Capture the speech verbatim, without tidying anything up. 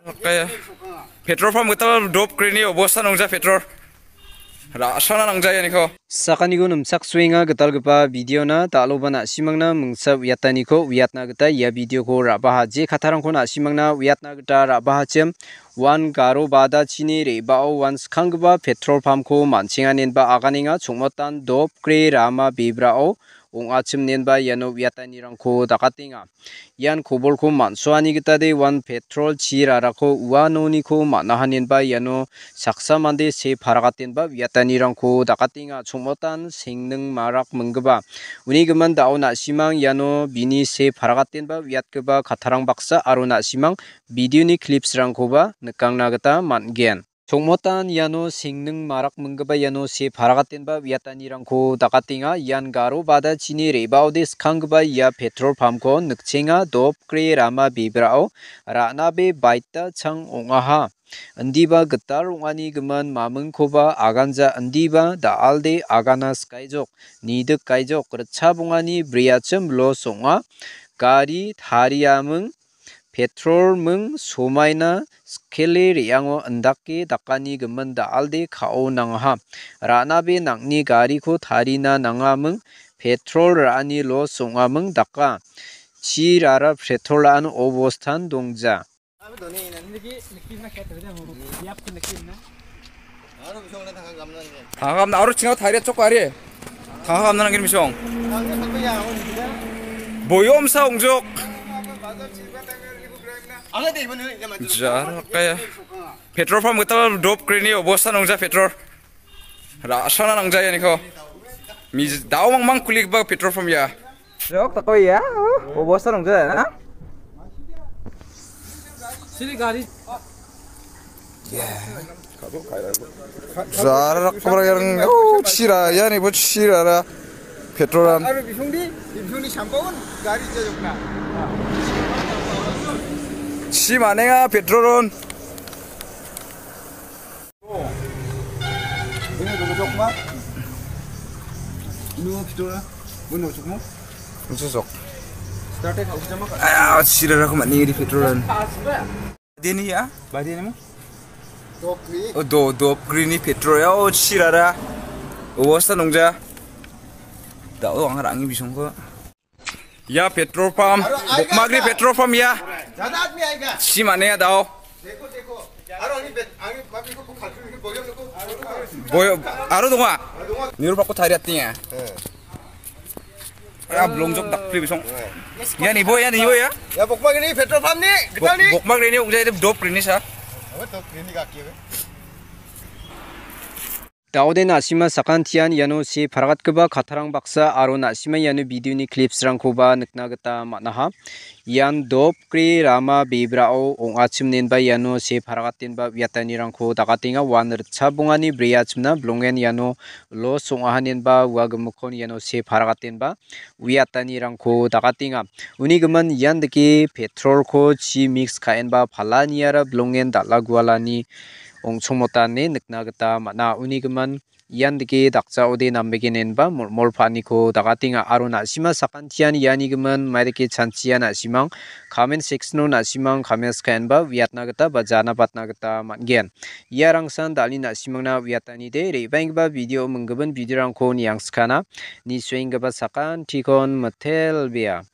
Oke. Petrol pump gital dop krini obosta nongja petrol. Ra·srangna nangja ianiko. Sakaniko nimchaksoenga gitalgipa videona, dal·oba na·simangna mingsa uiataniko uiatna gita ia videoko ra·baha. Je kattarangko na·simangna uiatna gita ra·bahachim, uan garo badachini re·bao uan skanggipa petrol pumpko man·chenganenba aganenga, chongmotan dop kre rama bebrao ong·achim nenba iano uiatanirangko dakatenga. Ian kobolko man·soani gitade uan petrol chi rarako uanoniko man·aha nenba iano saksa mande see paragatenba uiatanirangko dakatenga. Chongmotan sengning marak minggipa. Uni gimin da·o na·simang iano bini see paragatenba uiatgipa kattarang baksa aro na·simang videoni clipsrangkoba nikangna gita man·gen. Chongmotan iano sengning marak minggipa iano see paragatenba uiatanirangko dakatenga. Ian garo badachini re·baode skanggipa ia petrol pumpko nikchenga, dop kre rama bebrao ra·nabe baita chang ong·aha. Indiba gital ong·ani gimin mamingkoba aganja, indiba da·alde agana skaijok, nidik gaijok, ritchap ong·ani briachim los ong·a. Gari tariaming petrol ming somaina skele re·ango indake dakani gimin da·alde ka·o nangaha. Ra·nabe nang·ni gariko tarina nangaming, petrol ra·ani los ong·aming daka. Chi rara petrol ra·an obostan dongja. Tangka kamna aro chinga tharia chok ari. Tangka kamna nangin misong. Boyom sa ongjok. Jara kaya. Petrol pump gital dop krini obosta nongja petrol. Ra·srangna nangja ianiko. Mij-, da·o mangmang kulikba petrol pump ia. Jok, tako ia. Oh, obosta nongja na. Sini gari. Jara rak kamera yang. Oh, chira, iani bo chira ra. Petrolan. Aro bisongdi, bisongdi sampon gari jajokna. Chi manenga petrolon. Ini petrol. Ini cocok. Start-e kau sama. Ah, chira ra ko mani di petrolan. Deni ya, badi ni mo? Dop ni. Oh, do, dop green ni petrol ya, oh, chira ra. Obosta nongja. Da, oh, ang rangi bisong ko. Ya, petrol pump. Bokmagri petrol pump ya. Jana admi aega. Chi mane ya dao. Deko, deko. Aro ani bet, ani mami ko khatu ni boyom ko. Boyo, aro donga. Niru pako tari ati ya. Ya, belum jok dak pri bisong. Ya ni boy, ya ni boy ya. Ya, Bokmagri ni petrol pump ni, kita ni. Bokmagri ni ujai dop green ni sa. Apa dop green ni kaki ya? Daode na·sima sakantian iano see paragatgipa kattarang baksa aro na·sima iano videoni clipsrangkoba nikna gita man·aha. Ian dopgri rama bebrao ong·achim nenba iano see paragatenba uiatanirangko dakatenga. Uan ritchap ong·ani breachimna bilongen iano los ong·aha nenba ua gimikkon iano see paragatenba uiatanirangko dakatenga. Uni gimin ian dake petrolko chi mix ka·enba palaniara bilongen dal·a gualani ong·chongmotane nikna gita man·a. Uni gimin ian dake dakjaode nambegenenba mol-, molpaniko dakatenga aro na·sima sakantian iani gimin maidake chanchia na·simang comment section-o na·simang comments ka·enba uiatna gita ba jana batna gita man·gen. Ia rangsan dal·e na·simangna uiatanide re·baenggipa video minggimin videorangko niangskana. Nisuenggipa sakantikon mitelbea.